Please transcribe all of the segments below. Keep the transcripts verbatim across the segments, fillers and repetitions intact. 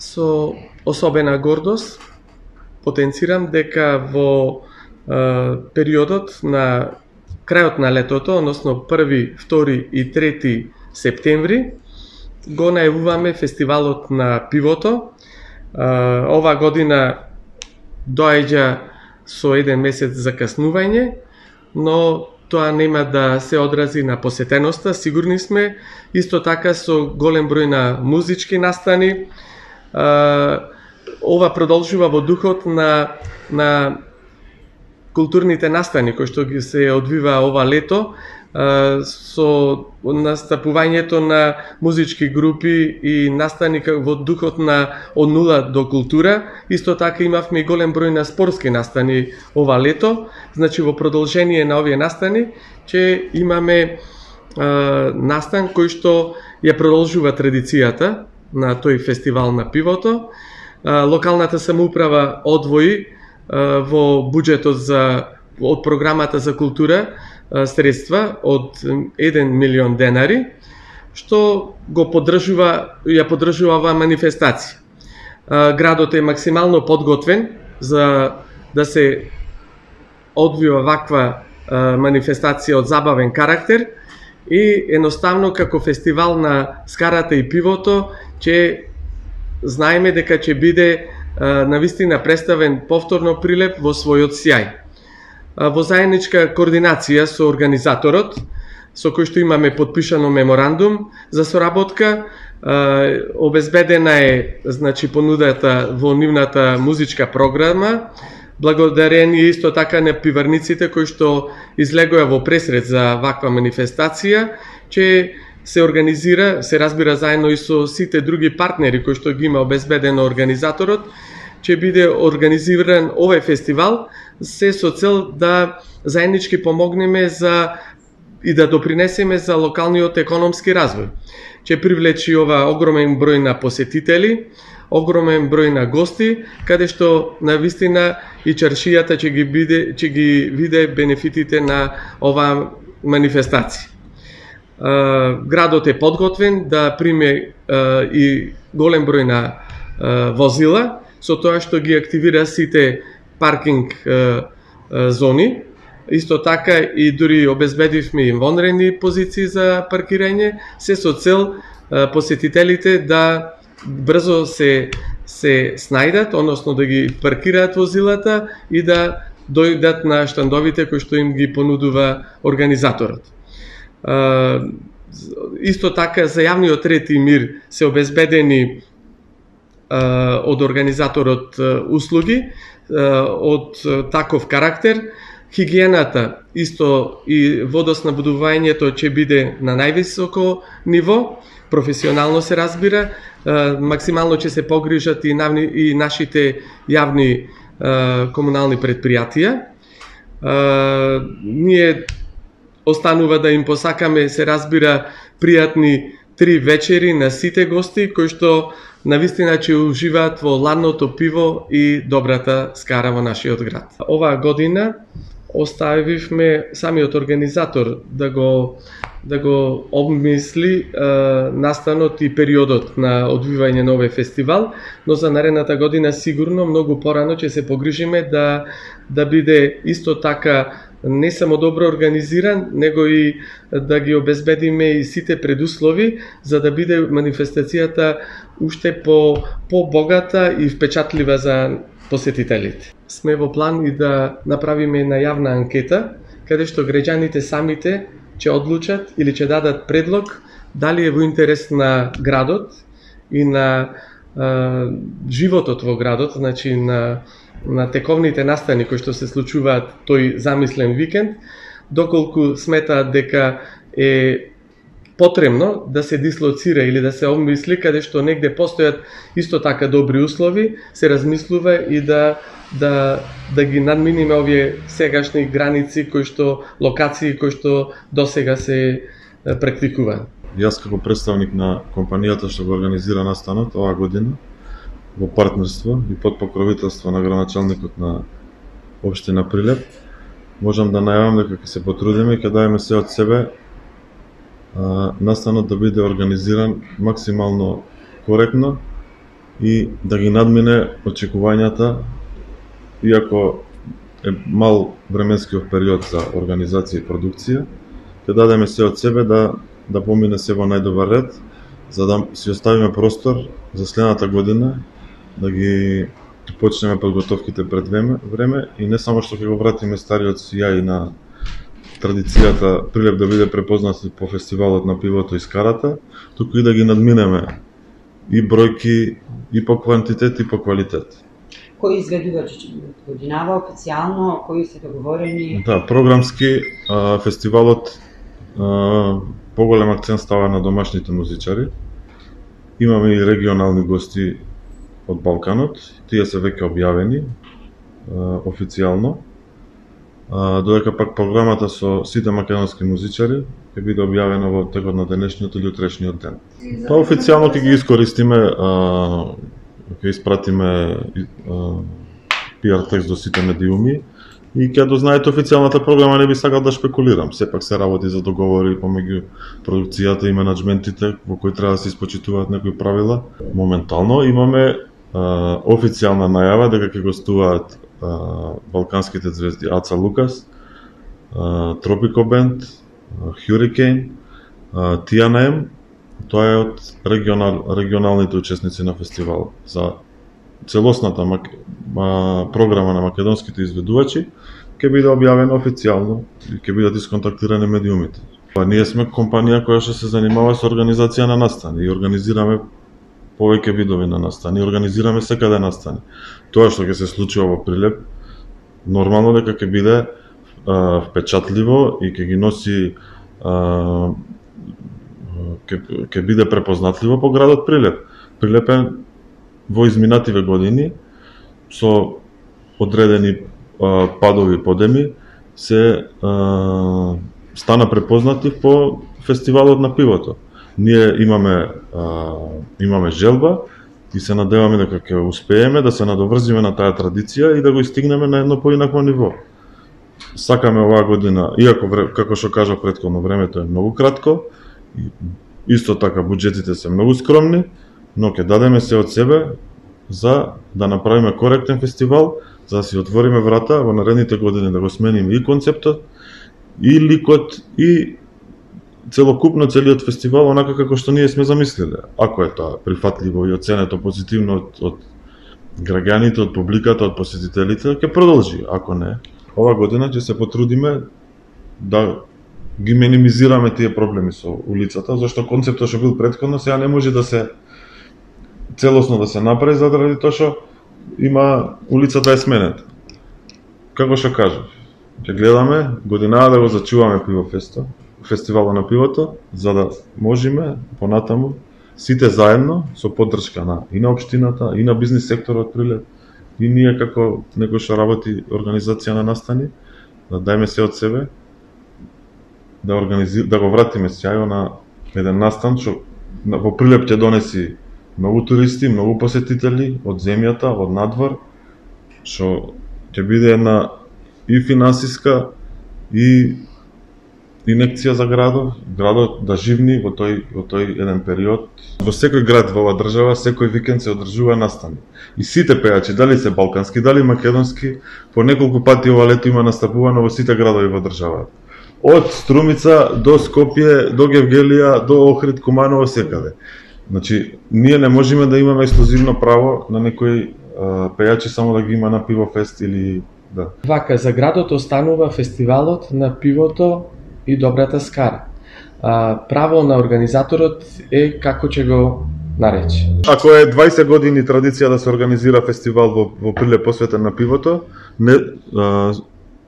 Со особена гордост потенцирам дека во е, периодот на крајот на летото, односно први, втори и трети септември, го најавуваме фестивалот на пивото. Е, ова година доаѓа со еден месец закаснување, но тоа нема да се одрази на посетеноста, сигурни сме. Исто така со голем број на музички настани. Ова продолжува во духот на, на културните настани кои што ги се одвива ова лето, со настапувањето на музички групи и настани во духот на од нула до култура. Исто така имавме и голем број на спортски настани ова лето. Значи во продолжение на овие настани че имаме е, настан кој што ја продолжува традицијата на тој фестивал на пивото. Локалната самоуправа одвои во буџетот за од програмата за култура средства од еден милион денари, што го поддржува, ја поддржува оваа манифестација. Градот е максимално подготвен за да се одвива ваква манифестација од забавен карактер и едноставно како фестивал на скарата и пивото че знаеме дека ќе биде навистина представен повторно прилеп во својот сјај. Во заедничка координација со организаторот, со кој што имаме подпишано меморандум за соработка, обезбедена е значи понудата во нивната музичка програма, благодарение исто така на пиварниците кои што излегоа во пресред за ваква манифестација, че се организира, се разбира заедно и со сите други партнери кои што ги има обезбедено организаторот, че биде организиран овој фестивал се со цел да заеднички помогнеме за и да допринесеме за локалниот економски развој. Че привлечи ова огромен број на посетители, огромен број на гости, каде што навистина и чаршијата ќе ги биде, ќе ги виде бенефитите на оваа манифестација. Градот е подготвен да приме и голем број на возила, со тоа што ги активира сите паркинг зони. Исто така и дури обезбедивме и вонредни позиции за паркирање, се со цел посетителите да брзо се се снајдат, односно да ги паркираат возилата и да дојдат на штандовите кои што им ги понудува организаторот. Исто така за јавниот ред и мир се обезбедени од организаторот услуги од таков карактер. Хигиената исто и водоснабдувањето ќе биде на највисоко ниво, професионално се разбира, максимално ќе се погрижат и, навни, и нашите јавни комунални предпријатија. Ние останува да им посакаме, се разбира, пријатни три вечери на сите гости кои што навистина ќе уживаат во ладното пиво и добрата скара во нашиот град. Оваа година оставивме самиот организатор да го да го обмисли е, настанот и периодот на одвивање на овој фестивал, но за наредната година сигурно многу порано ќе се погрижиме да да биде исто така не само добро организиран, него и да ги обезбедиме и сите предуслови за да биде манифестацијата уште по по-богата и впечатлива за посетителите. Сме во план и да направиме една јавна анкета каде што граѓаните самите ќе одлучат или ќе дадат предлог дали е во интерес на градот и на е, животот во градот, значи на на тековните настани кои што се случуваат тој замислен викенд, доколку сметаат дека е потребно да се дислоцира или да се обмисли каде што негде постојат исто така добри услови, се размислува и да да да ги надминиме овие сегашни граници кои што локации кои што досега се практикуваат. Јас како представник на компанијата што го организира настанот оваа година во партнерство и под покровителство на градоначалникот на општина Прилеп, можам да најавам дека ќе се потрудиме и ќе дадеме се од себе а, настанот да биде организиран максимално коректно и да ги надмине очекувањата, иако е мал временскиот период за организација и продукција, ќе дадеме се од себе да да помине се во најдобар ред, за да си оставиме простор за следната година да ги почнеме подготовките пред време, време и не само што ќе го вратиме стариот сијај на традицијата Прилеп да биде препознат по фестивалот на пивото и скарата, туку и да ги надминеме и бројки и по квантитет и по квалитет. Кои изведувачи ќе бидат годинава официјално, кои се договорени? Да, програмски а, фестивалот а, поголем акцент става на домашните музичари. Имаме и регионални гости од Балканот, тие се веќе објавени а, официјално. А, додека пак програмата со сите македонски музичари ќе биде објавена во текот на денешниот или утрешниот ден. Па официјално ќе ги искористиме, а, ќе испратиме пи ар текст до сите медиуми и ќе дознаете официјалната програма, не би сакал да шпекулирам. Сепак се работи за договори помеѓу продукцијата и менаџментите во кои треба да се испочитуваат некои правила. Моментално имаме а, официјална најава дека ќе гостуваат а, балканските звезди Аца Лукас, а, Тропико Бенд, Hurricane, Ти Ен Ем. Тоа е од регионал, регионалните учесници на фестивалот. За целосната мак... а, програма на македонските изведувачи ќе биде објавена официјално и ќе бидат исконтактирани медиумите. Па ние сме компанија која што се занимава со организација на настани и организираме повеќе видови на настани, организираме секаде настани. Тоа што ќе се случува во Прилеп, нормално дека ќе биде а, впечатливо и ќе ги носи а, ќе ќе биде препознатливо по градот Прилеп. Прилеп е во изминативе години со одредени а, падови подеми се а, стана препознатлив по фестивалот на пивото. Ние имаме а, имаме желба и се надеваме дека ќе успееме да се надоврзиме на таа традиција и да го истигнеме на едно поинакво ниво. Сакаме оваа година, иако како што кажав претходно, времето е многу кратко и исто така буџетите се многу скромни, но ќе дадеме се од себе за да направиме коректен фестивал, за да си отвориме врата во наредните години да го смениме и концептот, и ликот, и целокупно целиот фестивал онака како што ние сме замислиле. Ако е тоа прифатливо и оценето позитивно од, од граѓаните, од публиката, од посетителите, ќе продолжи. Ако не, ова година ќе се потрудиме да ги минимизираме тие проблеми со улицата, зашто концептот што бил претходно сега не може да се целосно да се направи заради тоа што има улицата е сменета. Како што кажав, ќе гледаме годинава да го зачуваме пивофесто, фестивалот на пивото, за да можеме понатаму сите заедно со поддршка на и на општината, и на бизнис секторот Прилеп, и ние како некој што работи организација на настани, да дајме се од себе, да организир, да го вратиме сјајо на еден настан што во Прилеп ќе донеси многу туристи, многу посетители од земјата, од надвор, што ќе биде една и финансиска и инекција за градот, градот да живни во тој во тој еден период. Во секој град во оваа држава секој викенд се одржува настани. И сите пејачи, дали се балкански, дали македонски, по неколку пати ова лето има настапувано во сите градови во државата. Од Струмица до Скопје, до Гевгелија, до Охрид, Куманово, секаде. Значи, ние не можеме да имаме ексклузивно право на некои а, пејачи само да ги има на пивофест или да. Вака, за градот останува фестивалот на пивото и добрата скара. А, право на организаторот е како ќе го нарече. Ако е двајсет години традиција да се организира фестивал во, во Прилеп посветен на пивото, не, а,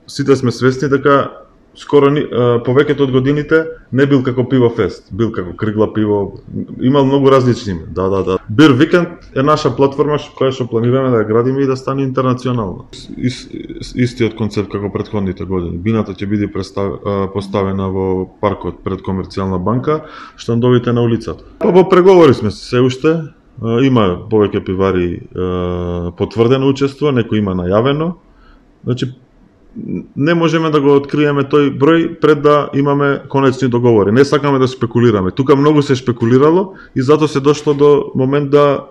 сите сме свесни дека скоро а, повеќето од годините не бил како пивофест, бил како кригла пиво, имал многу различни име. Да, да, да. Бир Викенд е наша платформа која што планираме да ја градиме и да стане интернационална. Ис, истиот концепт како претходните години. Бината ќе биде представ, поставена во паркот пред Комерцијална банка, штандовите на улицата. Па во преговори сме се уште, има повеќе пивари потврдено учество, некој има најавено. Значи не можеме да го откриеме тој број пред да имаме конечни договори. Не сакаме да спекулираме. Тука многу се шпекулирало и затоа се дошло до момент да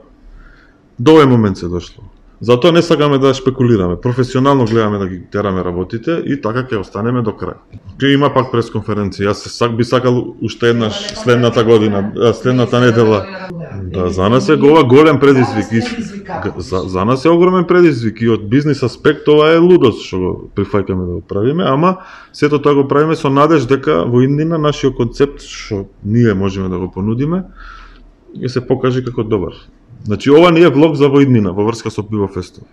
До овој момент се дошло. Затоа не сакаме да шпекулираме. Професионално гледаме да ги тераме работите и така ќе останеме до крај. Ќе има пак пресконференција. Јас сак би сакал уште еднаш следната година, следната недела. Да, за нас е ова голем предизвик. За, за нас е огромен предизвик и од бизнис аспект ова е лудост што го прифаќаме да го правиме, ама сето тоа го правиме со надеж дека во иднина нашиот концепт што ние можеме да го понудиме ќе се покаже како добар. Значи ова не е влог за во иднина во врска со Пивофестот.